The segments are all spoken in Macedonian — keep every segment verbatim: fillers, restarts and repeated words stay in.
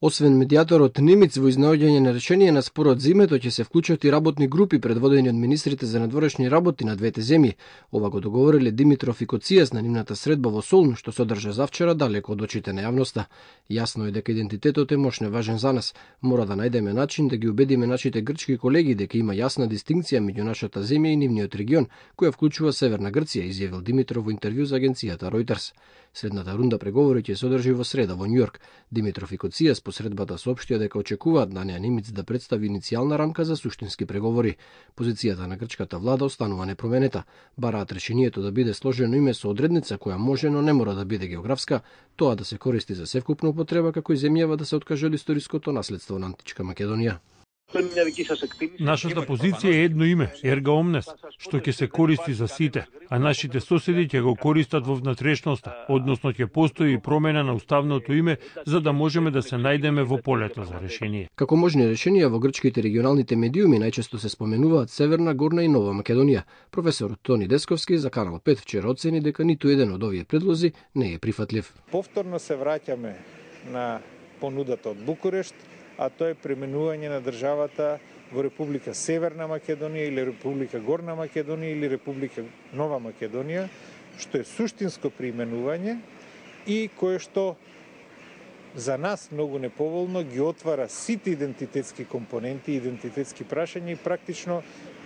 Освен медијаторот Немиц во изнаоѓање на решение на спорот за името ќе се вклучат и работни групи предводени од министрите за надворешни работи на двете земји. Ова го договориле Димитров и Коцијас на нивната средба во Солун, што се одржа завчера далеко од очите на јавноста. Јасно е дека идентитетот е мощно важен за нас. Мора да најдеме начин да ги убедиме нашите грчки колеги дека има јасна дистинкција меѓу нашата земја и нивниот регион, која вклучува Северна Грција, изјавил Димитров во интервју за агенцијата Reuters. Следната рунда преговори ќе се одржи во среда во Њујорк. Димитров и Коцијас по средбата соопштија дека очекуваат Данија Немиц да представи иницијална рамка за суштински преговори. Позицијата на грчката влада останува непроменета. Бараат решението да биде сложено име со одредница која може, но не мора да биде географска, тоа да се користи за севкупна употреба, како и земјава да се откаже од историското наследство на античка Македонија. Нашата позиција е едно име, ерга омнес, што ќе се користи за сите, а нашите соседи ќе го користат во внатрешноста, односно ќе постои промена на уставното име за да можеме да се најдеме во полето за решение. Како можни решенија во грчките регионалните медиуми најчесто се споменуваат Северна, Горна и Нова Македонија. Професорот Тони Десковски за Канал пет вчера оцени дека ниту еден од овие предлози не е прифатлив. Повторно се враќаме на понудата од Букурешт, а тоа е пременување на државата во Република Северна Македонија или Република Горна Македонија или Република Нова Македонија, што е суштинско преименување и кое што за нас многу неповолно ги отвара сите идентитетски компоненти, идентитетски прашања и практично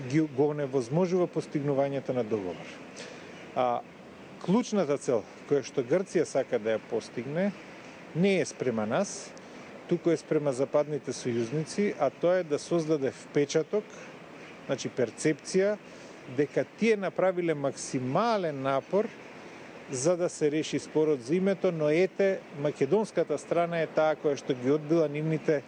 ги го невозможува постигнувањето на договор. А клучната цел која што Грција сака да ја постигне не е спрема нас, туку е спрема западните сојузници, а тоа е да создаде впечаток, значи перцепција, дека тие направиле максимален напор за да се реши спорот за името, но ете, македонската страна е таа која што ги одбила нивните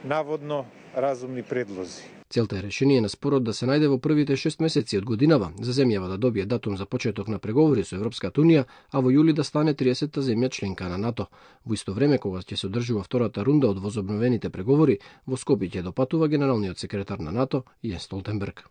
наводно разумни предлози. Целта е решение на спорот да се најде во првите шест месеци од годинава, за земјава да добие датум за почеток на преговори со Европската унија, а во јули да стане триесетта земја членка на НАТО. Во исто време, кога ќе се одржува втората рунда од возобновените преговори, во Скопје ќе допатува генералниот секретар на НАТО Јенс Столтенберг.